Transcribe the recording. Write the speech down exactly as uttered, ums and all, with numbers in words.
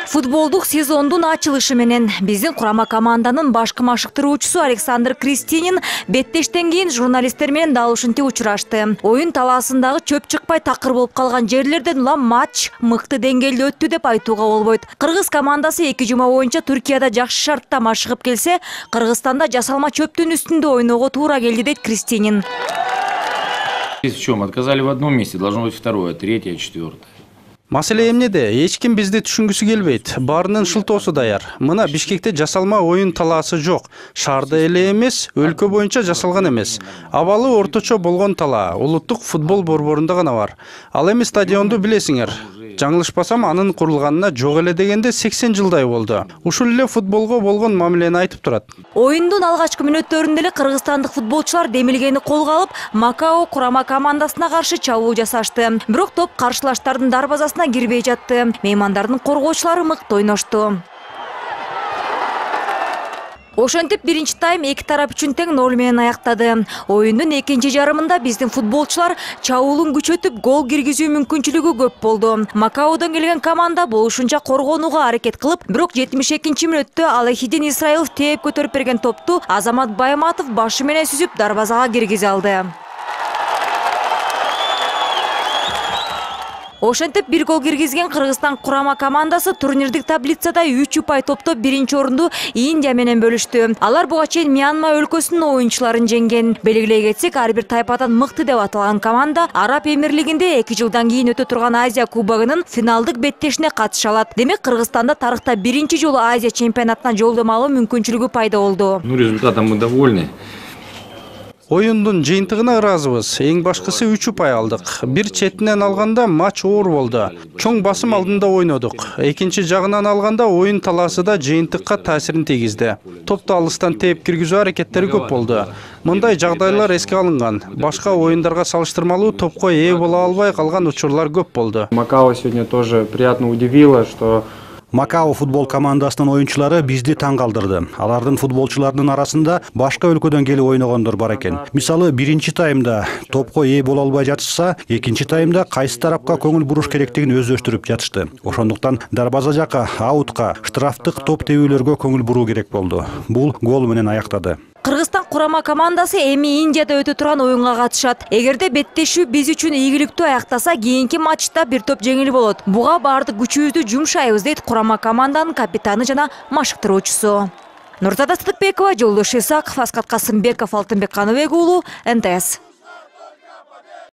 Футболдук сезондун ачылышы менен биздин курама команданын башкы машыктыруучусу Александр Кристинин беттештен кийин журналисттер менен дал ушинтип учурашты. Оюн талаасындагы чөп чыкпай такыр болуп калган жерлерден улам матч мыкты деңгээлде өттү деп айтууга болбойт. Кыргыз командасы эки жума боюнча Түркияда жакшы шартта машыгып келсе, Кыргызстанда жасалма чөптүн үстүндө ойноого туура келди дейт Кристинин. В чем? Отказали в одном месте, должно быть второе, третье, четвертое. Маселе эмнеде? Эч ким бизди түшүнгүсү келбейт. Баарынын шылтоосу даяр. Мына Бишкекте жасалма оюн талаасы жок. Шаарда эле эмес, өлкө боюнча жасалган эмес. Абалы орточо болгон талаа улуттук футбол борборунда гана бар. Ал эми стадионду билесиңер. Жаңылышпасам, анын курулганына жок эле дегенде сексен жылдай болду. Ушул эле футболго болгон мамилени айтып турат. Оюндун алгачкы мүнөттөрүндө эле кыргызстандык футболчулар демилгени колго алып, Макао курама командасына каршы чабуу жасашты. Бирок топ каршылаштардын дарбазасына кирбей жатты. Меймандардын коргоочулары мыкты ойношту. Ошентип биринчи тайм эки тарап үчүн тең ноль менен аяктады. Оюндун экинчи жарымында биздин футболчулар чабуулун күчөтүп гол киргизүү мүмкүнчүлүгү көп болду. Макаодон келген команда болушунча коргонууга аракет кылып, бирок жетимиш экинчи мүнөттө Алахидин Исраилов тээп көтөрүп берген топту Азамат Байматов башы менен сүзүп дарбазага киргизе алды. Ошентип бир гол киргизген Кыргызстан курама командасы турнирдик таблицада үч упай топтоп биринчи орунду Индия менен бөлүштү. Алар буга чейин Мьянма өлкөсүнүн оюнчуларын жеңген. Белгилей кетсек, ар бир тайпадан мыкты деп аталган команда Араб Эмирлигинде эки жылдан кийин өтө турган Азия кубогунун финалдык беттешине катыша алат. Демек, Кыргызстанда тарыхта биринчи жолу Азия чемпионатына жолдомо алуу мүмкүнчүлүгү пайда болду. Ну, результатом мы довольны. Оюндун жыйынтыгына ыраазыбыз. Эң башкысы үч упай алдык. Бир четинен алганда матч оор болду. Чоң басым алдында ойнодук. Экинчи жагынан алганда оюн талаасы да жыйынтыкка таасирин тийгизди. Топту алыстан тээп киргизүү аракеттери көп болду. Мындай жагдайлар эске алынган. Башка оюндарга салыштырмалуу топко ээ боло албай калган учурлар көп болду. Макао сегодня тоже приятно удивило, что Макао футбол командасынын оюнчулары бизди таң калтырды. Алардын футболчулардын арасында башка өлкөдөн келип ойногондор бар экен. Мисалы, биринчи таймда топко ээ боло албай жатышса, экинчи таймда кайсы тарапка көңүл буруш керектигин өздөштүрүп жатышты. Ошондуктан дарбаза жака, аутка, штрафтык топ тебүүлөргө көңүл буруу керек болду. Бул гол менен аяктады. Кыргызстан курама командасы эми Индияда өтө турган оюнга катышат. Эгерде беттешүү биз үчүн ийгиликтүү аяктаса, кийинки матчта бир топ жеңил болот. Буга баардык күчүбүздү жумшайбыз дейт курама команданын капитаны жана машыктыруучусу. Нурзада Сыдыкбекова, Жолдош Исаков, Аскат Касымбеков, Алтынбек Каныбек уулу, эн тэ эс.